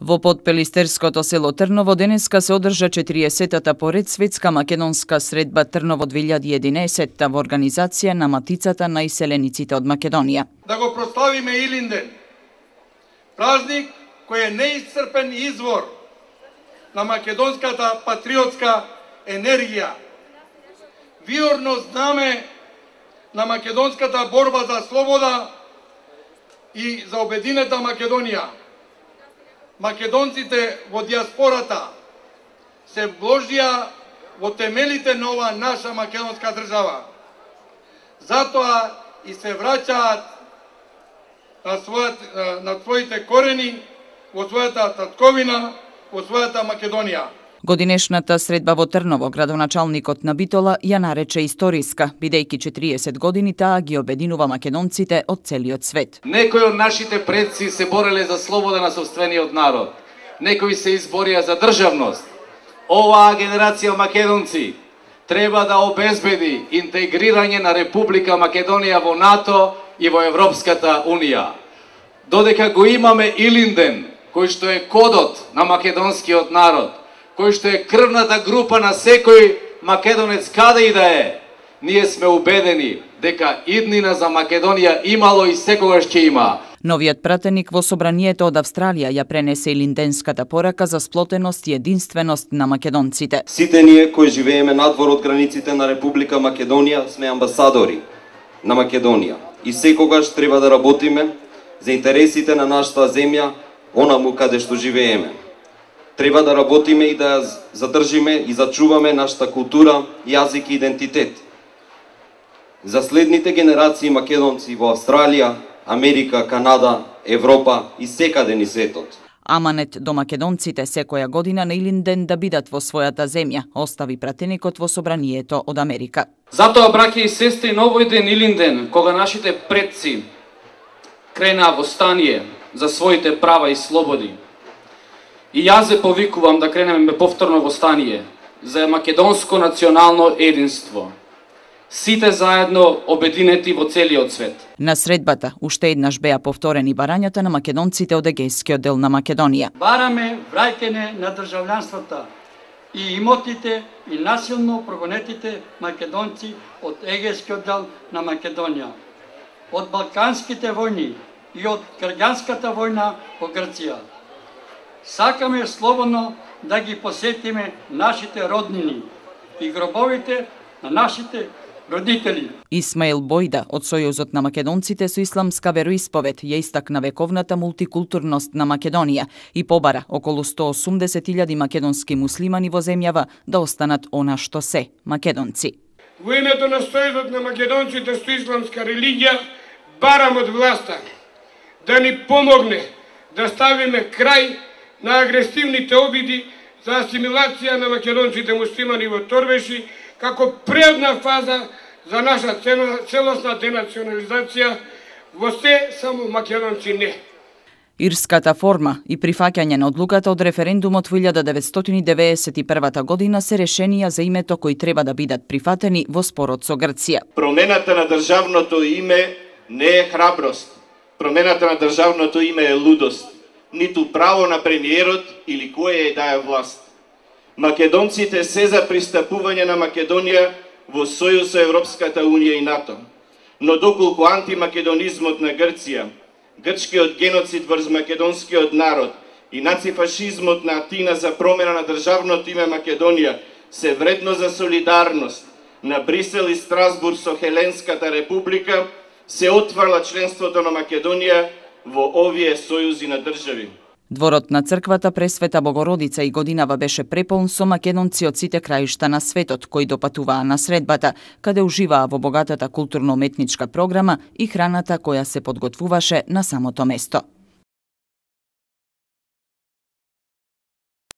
Во подпелистерското село Трново денеска се одржа 40-та поред светска македонска средба Трново 2011 во организација на Матицата на иселениците од Македонија. Да го прославиме Илинден, празник кој е неисцрпен извор на македонската патриотска енергија, виорно знаме на македонската борба за слобода и за обединета Македонија. Македонците во диаспората се вложија во темелите на ова наша македонска држава. Затоа и се враќаат на своите корени, во својата татковина, во својата Македонија. Годинешната средба во Трново градоначалникот на Битола ја нарече историска, бидејќи 40 години таа ги обединува македонците од целиот свет. Некои од нашите предци се бореле за слобода на сопствениот народ. Некои се изборија за државност. Оваа генерација македонци треба да обезбеди интегрирање на Република Македонија во НАТО и во Европската Унија. Додека го имаме Илинден, кој што е кодот на македонскиот народ, кој што е крвната група на секој македонец каде и да е, ние сме убедени дека иднина за Македонија имало и секогаш ќе има. Новиот пратеник во собранието од Австралија ја пренесе илинденската порака за сплотеност и единственост на македонците. Сите ние кои живееме надвор од границите на Република Македонија сме амбасадори на Македонија и секогаш треба да работиме за интересите на нашата земја, онаму каде што живееме. Треба да работиме и да задржиме и зачуваме нашата култура, јазик и идентитет. За следните генерации македонци во Австралија, Америка, Канада, Европа и секаде низ светот. Аманет до македонците секоја година на Илинден да бидат во својата земја, остави пратеникот во собранието од Америка. Затоа, браќа и сестри, на овој ден Илинден, кога нашите предци кренаа во стание за своите права и слободи, и јас се повикувам да кренеме повторно во стание за македонско национално единство. Сите заедно обединети во целиот свет. На средбата уште еднаш беа повторени барањата на македонците од егејскиот дел на Македонија. Бараме враќање на државјанствата и имотите и насилно прогонетите македонци од егејскиот дел на Македонија, од балканските војни и од граѓанската војна во Грција. Сакаме слободно да ги посетиме нашите роднини и гробовите на нашите родители. Исмаил Бојда од Сојузот на македонците со исламска вероисповед ја истакна вековната мултикултурност на Македонија и побара околу 180.000 македонски муслимани во земјава да останат она што се македонци. Во името на Сојузот на македонците со исламска религија барам од власта да ни помогне да ставиме крај на агресивните обиди за асимилација на македонците муслимани во Торбеши, како предна фаза за наша целосна денационализација во се, само македонци не. Ирската форма и прифаќање на одлуката од референдумот во 1991 година се решенија за името кои треба да бидат прифатени во спорот со Грција. Промената на државното име не е храброст. Промената на државното име е лудост. Ниту право на премиерот или која е да е власт. Македонците се за пристапување на Македонија во Сојуз со Европската Унија и НАТО. Но доколку антимакедонизмот на Грција, грчкиот геноцид врз македонскиот народ и нацифашизмот на Атина за промена на државното име Македонија се вредно за солидарност на Брисел и Страсбург со Хеленската република, се отварла членството на Македонија во овие сојузи на држави. Дворот на црквата Пресвета Богородица и годинава беше преполн со македонци од сите краишта на светот кои допатуваа на средбата, каде уживаа во богатата културно-уметничка програма и храната која се подготвуваше на самото место.